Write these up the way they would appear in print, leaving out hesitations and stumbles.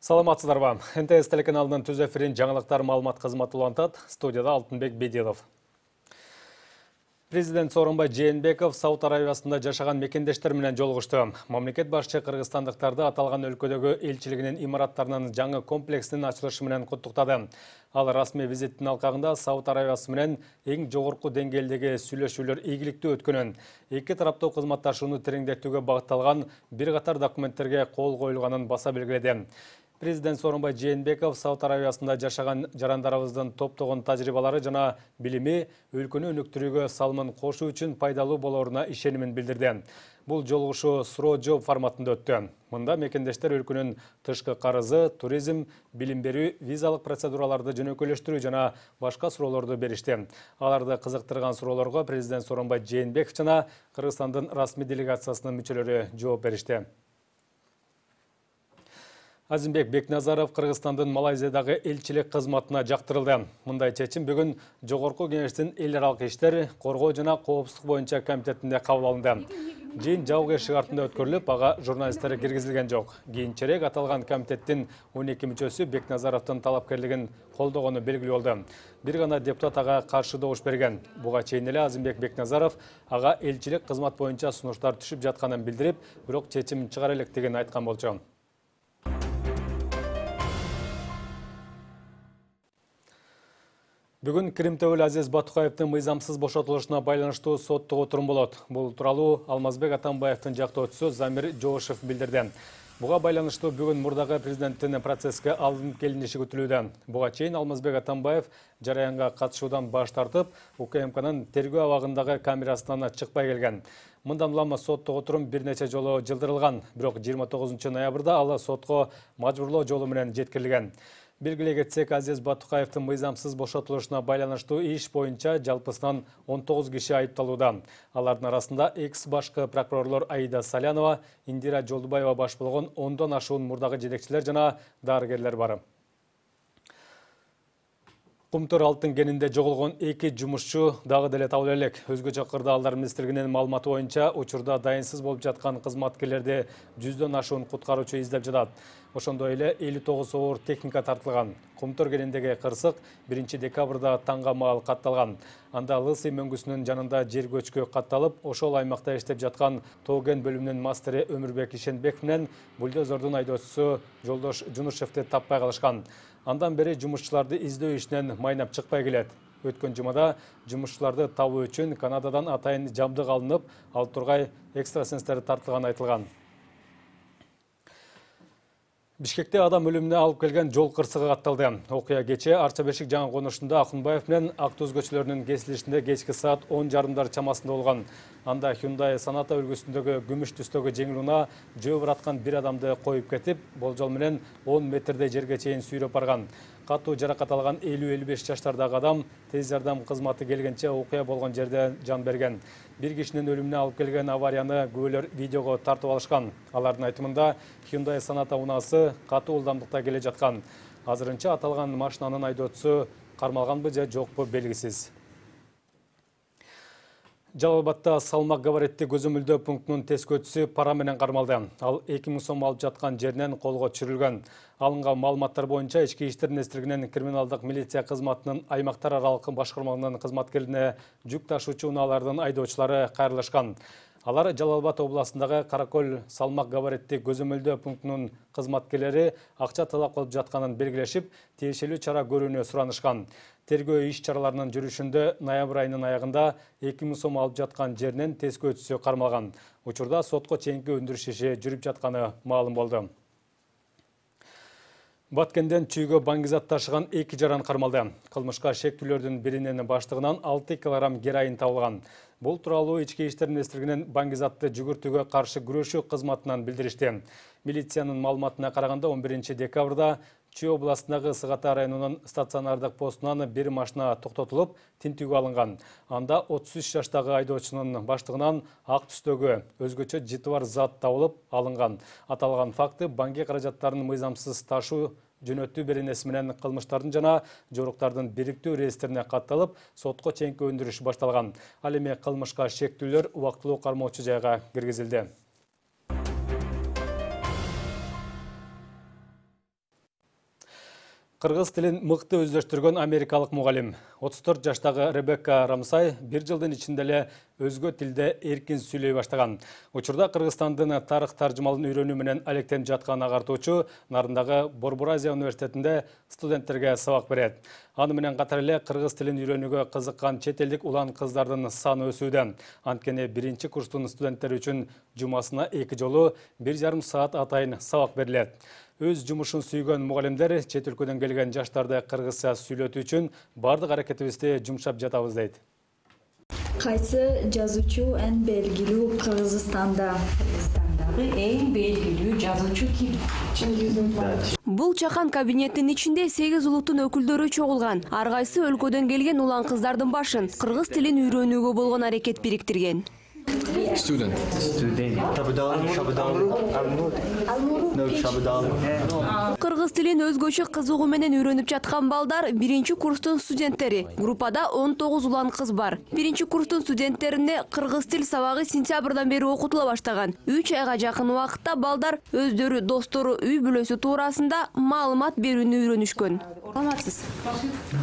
Саламатсыздарбы. НТС телеканалынын түз эфирин жаңылыктар маалымат кызматы улантат. Студияда Алтынбек Бедилов. Президент Сооронбай Жээнбеков Сауд Аравиясында жашаган мекендештер менен жолугушту. Мамлекет башчы кыргызстандыктарды аталган өлкөдөгү элчилигинин имараттарынын жаңы комплексинин ачылышы менен куттуктады. Ал расмий визиттин алкагында Сауд Аравиясы менен эң жогорку деңгээлдеги сүйлөшүүлөр ийгиликтүү өткөнүн, эки тараптуу кызматташууну тереңдетүүгө багытталган бир катар документтерге кол коюлганын баса белгиледи. Президент Сооронбай Жээнбеков Сауд Аравиясында жашаган жарандарыбыздын топтогон тажрыйбалары жана билими өлкөнү өнүктүрүүгө салымын кошуу үчүн пайдалуу болоруна ишенимин билдирди. Бул жолугушуу суроо-жооп форматында өттү. Мында мекендештер өлкөнүн тышкы карызы, туризм, билим берүү, визалык процедураларды жөнөкөйлөштүрүү жана башка суроолорду беришти. Аларды кызыктырган суроолорго президент Сооронбай Жээнбеков жана Кыргызстандын расмий делегациясынын мүчөлөрү жооп беришти. Азимбек Бекназаров Кыргызстандын Малайзиядагы элчилик кызматына жактырылды. Мындай чечим бүгүн Жогорку Кеңештин эл аралык иштер, коргоо жана коопсуздук боюнча комитетинде кабыл алынды. Жыйын жабык шартында өткөрүлүп, ага журналисттер киргизилген жок. Кийинчерээк аталган комитеттин 12 мүчөсү Бекназаровдун талапкерлигин колдогону белгилүү болду. Бир гана депутат ага каршы добуш берген. Буга чейин эле Азимбек Бекназаров ага элчилик кызмат боюнча сунуштар түшүп жатканын билдирип, бирок чечим чыгара электигин айткан болчу. Бүгүн Киримтөбөл Азиз Батукаевдин мыйзамсыз бошотулушуна байланыштуу соттук отурум болот. Бул тууралуу Алмазбек Атамбаевдин жактоочусу Замир Жоошев билдирди. Буга байланыштуу бүгүн мурдагы президенттин процесске алынып келиниши күтүлүүдө. Буга чейин Алмазбек Атамбаев жараянга катышуудан баш тартып, УКМКнын тергөө абагындагы камерасынан чыкпай келген. Мындан улам соттук отурум бир нече жолу жылдырылган, бирок 29 ноябрда ал сотко мажбурлоо жолу менен жеткирилген. Белгилей кетсек, Азиз Батукаевдин мыйзамсыз бошотулушуна байланыштуу иш боюнча жалпысынан 19 киши айыпталууда. Алардын арасында экс-башкы прокурорлор Аида Салянова, Индира Жолдубаева баш болгон 10дон ашуун мурдагы жетекчилер жана дарыгерлер бар. Кумтөр алтын кенинде жоголгон 2 жумушчу дагы деле табыла элек. Өзгөчө кырдаалдар министрлигинин маалыматы боюнча учурда дайынсыз болуп жаткан кызматкерлерди 100дон ашуун куткаруучу издеп жатат. Ошондой эле 59 оор техника тартылган. Кумтөр кениндеги кырсык 1 декабрда таңга маал катталган. Анда Лысый мөңгүсүнүн жанында жер көчкү катталып, ошол аймакта иштеп жаткан Тоген бөлүмүнүн мастери Өмүрбек Ишенбеков менен бульдозордун айдоочусу Жолдош Жунушевди таппай калышкан. Андан бери жумушчуларды издөө ишинен майнап чыкпай келет. Өткөн жумада жумушчуларды табуу үчүн Канададан атайын жабдык алынып, ал тургай экстрасенстер тартылганы айтылган. Бишкекте адам өлүмүнө алып келген жол кырсыгы катталды. Окуя кечээ Арча Бешик жаңы конушунда Акунбаев менен Актуз көчөлөрүнүн кесилишинде кечки саат 10:30 чамасында болгон. Анда Hyundai Sonata үлгүсүндөгү күмүш түстөгү жеңил унаа жөө бараткан бир адамды коюп кетип, болжол менен 10 метрдей жерге чейин сүйрөп барган. Катуу жаракат алган 50-55 жаштардагы адам тез жардам кызматы келгенче окуя болгон жерде жан берген. Бир кишинин өлүмүнө алып келген аварияны күбөлөр видеого тартып алышкан. Алардын айтымында Hyundai Sonata унаасы катуу ылдамдыкта келе жаткан. Азырынча аталган машинанын айдоочусу кармалганбы же жокпу белгисиз. Жалал Абадта салмак габаритти көзөмөлдөө пунктунун тескөөчүсү пара менен кармалды. Ал 2000 сом алып жаткан жеринен колго түшүрүлгөн. Алынган маалыматтар боюнча Ички иштер министрлигинин криминалдык милиция кызматынын аймактар аралык башкармалыгынын кызматкерлине жүк ташуучу унаалардын айдоочулары кайрылышкан. Алар Жалал Абад областындагы Каракөл салмак габаритти көзөмөлдөө пунктунун кызматкерлери акча талап кылып жатканын белгилешип, тиешелүү чара көрүүнү суранышкан. Тергөө иш чараларынын жүрүшүндө ноябрь айынын аягында 2000 сом алып жаткан жеринен тескөөчүсү кармалган. Учурда сотко чейинки өндүрүш иши жүрүп жатканы маалым болду. Баткенден чүйгө баңгизат ташыган 2 жаран кармалды. Кылмышка шектүүлөрдүн биринин баштыгынан 6 кг героин табылган. Бул тууралуу Ички иштер министрлигинин баңгизатты жүгүртүүгө каршы күрөшүү кызматынан билдиришти. Милициянын маалыматына караганда 11 декабрда Чүй областындагы Сыгата районунун стационардык постунан бир машина токтотулуп, тинтүүгө алынган. Анда 33 жаштагы айдоочунун баштыгынан ак түстөгү өзгөчө жыты бар зат табылып алынган. Аталган факты банки каражаттарын мыйзамсыз ташуу жөнөтүү беренеси менен кылмыштардын жана жоруктардын бириктүү реестрине катталып, сотко чейинки өндүрүш башталган. Ал эми кылмышка шектүүлөр убактылуу кармоочу жайга киргизилди. Кыргыз тилин мыкты өздөштүргөн америкалык мугалим 34 жаштагы Ребекка Рамсай бир жылдын ичинде эле өзгө тилде эркин сүйлөй баштаган. Учурда Кыргызстандын тарых таржымалын үйрөнүү менен алектенип жаткан агартуучу Нарындагы Борбор Азия университетинде студенттерге сабак берет. Аны менен катар эле кыргыз тилин үйрөнүүгө кызыккан чет элдик улан кыздардын саны өсүүдө. Анткени биринчи курстун студенттери үчүн жумасына 2 жолу 1,5 саат атайын сабак берилет. Өз жумушун сүйгөн мугалимдер чет өлкөдөн келген жаштарды кыргызча сүйлөтүү үчүн бардык аракетибизди жумшап жатабыз дейт. Кайсы жазуучу эң белгилүү Кыргызстанда? Кыргызстандагы эң белгилүү жазуучу ким? Бул чакан кабинеттин ичинде 8 улуттун өкүлдөрү чогулган. Ар кайсы өлкөдөн келген улан кыздардын башын кыргыз тилин үйрөнүүгө болгон аракет бириктирген. Student. Кыргыз тилин өзгөчө кызыгуу менен үйрөнүп жаткан балдар биринчи курстун студенттери. Группада 19 улан кыз бар. Биринчи курстун студенттерине кыргыз тил сабагы сентябрдан бери окутула баштаган. 3 айга жакын убакытта балдар өздөрү, достору, үй бүлөсү туурасында маалымат берүүнү үйрөнүшкөн. Саламатсыз?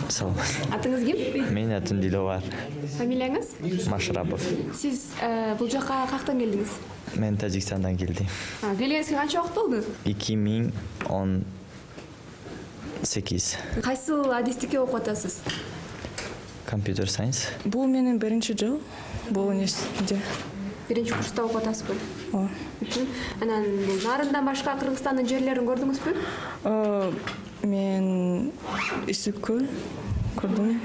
Саламат. Атыңыз ким? Менин атым Диловар. Фамилияңыз? Машрапов. Сиз бул жака каяктан келдиңиз? Мен Тажикстандан келдим. Келгениңизге канча убакыт болду? 2018. Кайсыл адистикке окуп атасыз? Computer Science. Бул менин биринчи жыл бул университетте. Биринчи курста окуп атасызбы? Ооба. Анан Нарындан башка Кыргызстандын жерлерин көрдүңүзбү? Мен Исүккөл көрдүм.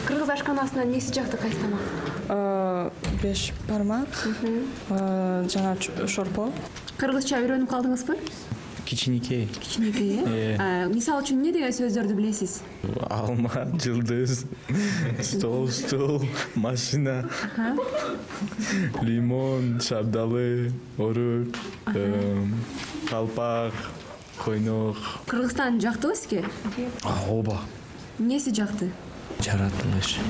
Кыргыз ашканасынан эмнеси жакты, кайсы тамак? 5 бармак, жана шорпо. Кыргызча үйрөнүп калдыңызбы? Кичинекей. Кичинекей, мисал үчүн эмне деген сөздөрдү билесиз? Алма, жылдыз, стол, машина, лимон, шабдалы, орук, калпак, койнок. Кыргызстан жактыбы сизге? Ооба. Эмнеси жакты? Жаратылышы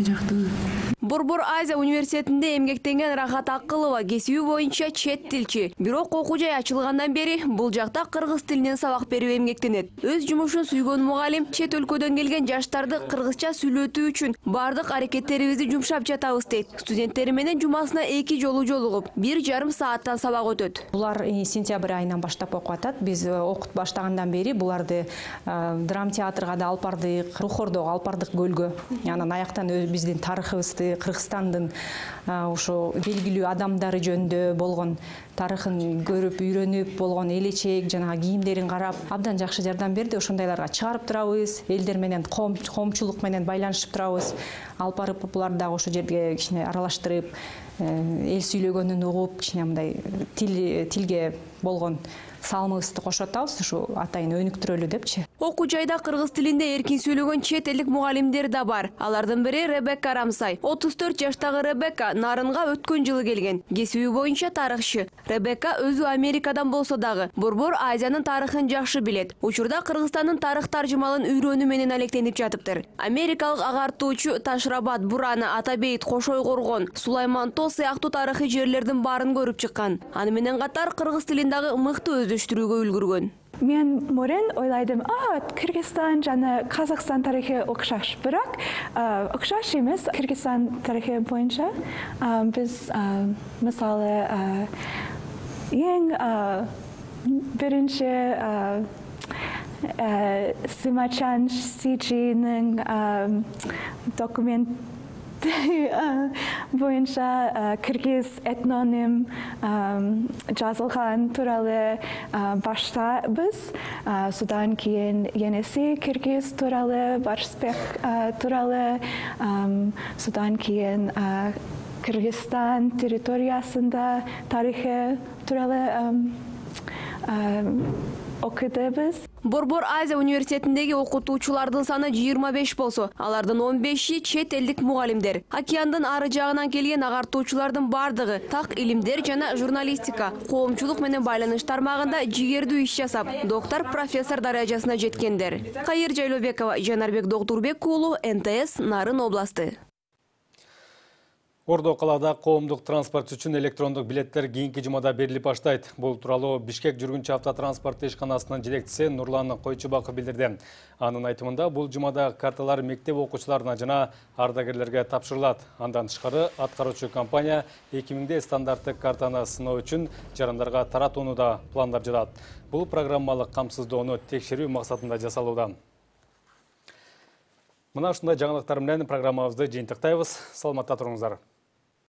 жактыбы. Борбор Азия университетинде эмгектенген Рахат Акылова кесиби боюнча чет тилчи. Бирок окуу жай ачылгандан бери бул жакта кыргыз тилинен сабак берип эмгектенет. Өз жумушун сүйгөн мугалим чет өлкөдөн келген жаштарды кыргызча сүйлөтүү үчүн бардык аракеттерибизди жумшап жатабыз дейт. Студенттери менен жумасына 2 жолу жолугуп, 1,5 сааттан сабак өтөт. Булар сентябрь айынан баштап окуп атат. Биз окут баштагандан бери буларды драм театрга да алып бардык, Рухордого алып бардык, көлгө. Анан аяктан биздин тарыхыбызды, Кыргызстандын ошо белгилүү адамдары жөнүндө болгон тарыхын көрүп, үйрөнүп болгон элечек, жана кийимдерин карап, абдан жакшы жардам берди. Ошондайларга чыгарып турабыз, элдер менен коомчулук менен байланышып турабыз. Алып барып буларды дагы ошо жерге кичине аралаштырып, эл сүйлөгөнүн угуп, кичине мындай тилге болгон салымыбызды кошуп атабыз, ушу атайын өнүктүрөлү депчи. Окуу жайда кыргыз тилинде эркин сүйлөгөн чет элдик мугалимдер да бар. Алардын бири Ребекка Рамсай. 34 жаштагы Ребекка Нарынга өткөн жылы келген. Кесиби боюнча тарыхчы. Ребекка өзү Америкадан болсо дагы Борбор Азиянын тарыхын жакшы билет. Учурда Кыргызстандын тарых таржымалын үйрөнүү менен алектенип жатыптыр. Америкалык агартуучу Ташрабат, Бурана, Атабейт, Кошой Коргон, Сулайман Тоо сыяктуу тарыхый жерлердин баарын көрүп чыккан. Аны менен катар кыргыз тилин дагы мыкты өздөштүрүүгө үлгүргөн. Мен мурун ойлайдым, Кыргызстан жана Казакстан тарыхы окшош, бирок окшош эмес. Кыргызстан тарыхы боюнча биз мисалы эң биринчи Сымачан Сичинин документ боюнча кыргыз этноним жазылган тууралуу баштайбыз. Судан кийин енеси кыргыз тууралуу, Барысбек тууралуу, судан кийин Кыргызстан территориясында тарыхы тууралуу окудубуз. Борбор Азия университетиндеги окутуучулардын саны 25 болсо, алардын 15и чет элдик мугалимдер. Океандын ары жагынан келген агартуучулардын бардыгы так илимдер жана журналистика, коомчулук менен байланыш тармагында жигердүү иш жасап, доктор, профессор даражасына жеткендер. Кайыр Жайлообекова, Жанарбек Доктурбек уулу, НТС, Нарын областы. Ордо калаада коомдук транспорт үчүн электрондук билеттер кийинки жумада берилип баштайт. Бул тууралуу Бишкек жүргүнчү автотранспорт ишканасынын жетекчиси Нурлан Койчубаков билдирди. Анын айтымында бул жумада карталар мектеп окуучуларына жана ардагерлерге тапшырылат. Андан тышкары аткаруучу компания 2000 стандарттык картаны сыноо үчүн жарандарга таратууну да пландап жатат. Бул программалык камсыздоону текшерүү максатында жасалууда. Мына ушундай жаңылыктар менен программабызды жыйынтыктайбыз. Саламатта туруңуздар.